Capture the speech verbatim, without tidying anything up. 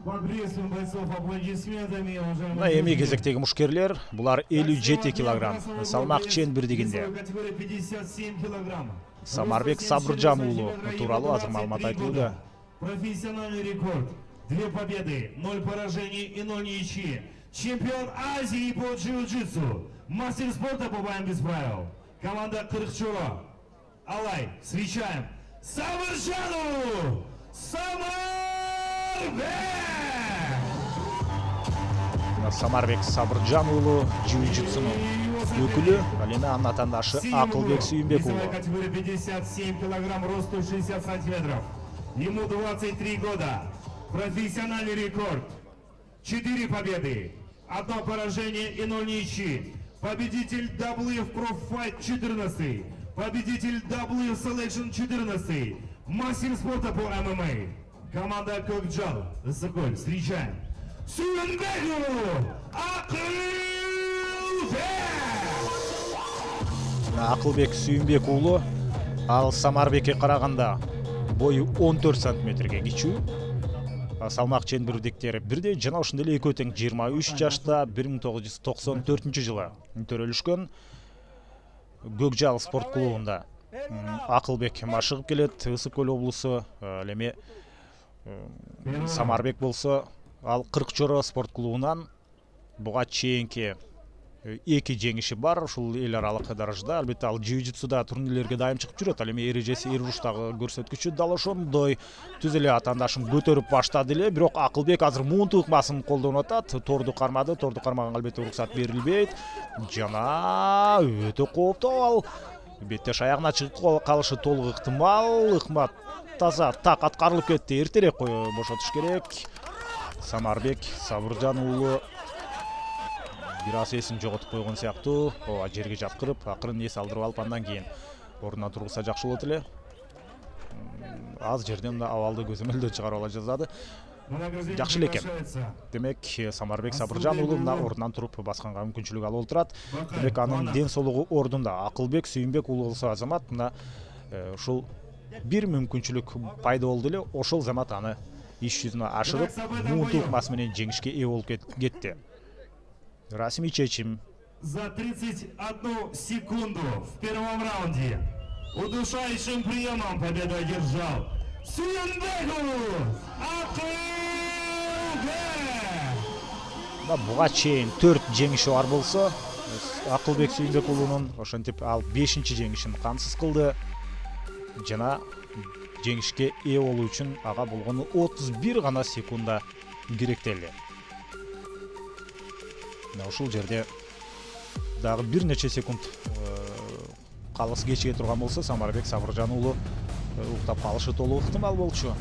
Поприветствуем бойцов аплодисментами, уважаемые. Мына эми кезектеги мушкерлер, булар элүү жети килограмм салмак ченбирдигинде. пятьдесят семь килограмм. Самарбек Сабыржан уулу тууралуу азыр маалымат айтылууда. Профессиональный рекорд. Две победы, ноль поражений и ноль ничьи. Чемпион Азии по джиу-джитсу. Мастер спорта по боям без правил. Команда Кыркчоро. Алай, встречаем Сабыржану Самарбек! Самарбек Сабыржан уулу джиу-джитсунун өкүлү, ал эми анын атандашы Акылбек Сүйүнбек уулу. Категория пятьдесят семь килограмм, рост сто шестьдесят сантиметров. Ему двадцать три года. Профессиональный рекорд. четыре победы, одно поражение и ноль ничьи. Победитель дабл ю эф Pro Fight четырнадцать. Победитель дабл ю эф Selection четырнадцать. Мастер спорта по эм эм а. Команда Кокджал. Соколь. Встречаем Сүйүнбеку Акылбек! Акылбек Сүйүнбек уулу, ал Самарбекке караганда бою он төрт сантиметрге кичүү. Салмак ченбирдиктери бирдей жана ошондой эле экөө тең жыйырма үч жашта бир миң тогуз жүз токсон төртүнчү жылы төрөлүшкөн. Көкжал спорт клубунда Акылбек машыгып келет, Ысык Көл облусу. Ал эми Самарбек болсо ал Кыркчоро спорт клубунан буга чейинки эки жеңиши бар ушул эл аралык даражада. Албетте ал джиу-джитсуда турнирлерге дайым чыгып жүрөт. Ал эми эрежеси эр уруштагы көрсөткүчү дал ошондой түз эле атаандашын көтөрүп баштады эле. Бирок Акылбек азыр муунту ыкмасын колдонуп атат. Торду кармады, торду кармаганга албетте уруксат берилбейт. Жана өтө кооптуу ал. Беттеш аягына чыгып калышы толук ыктымал. Ыкмат таза так аткарылып кетти. Эртерээк бошотуш керек. Самарбек Сабыржан уулу бир аз эсин жоготуп койгон сыяктуу. Ооба, жерге жаткырып, акырын эс алдырып алып, андан кийин ордуна тургузса жакшы болот эле. Аз жерден мына абалды көзөмөлдөө чыгарып ала жаздады. Жакшы эле экен. Демек, Самарбек Сабыржан уулу мына ордунан туруп басканга мүмкүнчүлүк алып отурат. Демек, анын ден соолугу ордунда. Акылбек Сүйүнбек уулу болсо азамат мына ушул бир мүмкүнчүлүк пайда болду эле. Ошол замат аны иш жүзүнө ашырып, муунту ыкмасы менен жеңишке ээ болуп кетти. Расмий чечим. За тридцать одну секунду в первом раунде удушающим приемом победу одержал Сүйүнбеку Акылбек! Буга чейин төрт жеңиши бар болсо, Акылбек Сүйүнбек уулунун ошентип ал бешинчи жеңишин камсыз кылды. Жана жеңишке ээ болуу үчүн ага болгону отуз бир гана секунда керектелди. Ушул жерде дагы бир нече секунд калыс кечиге турган болсо, Самарбек Сабыржан уулу уктап калышы толук ыктымал болчу.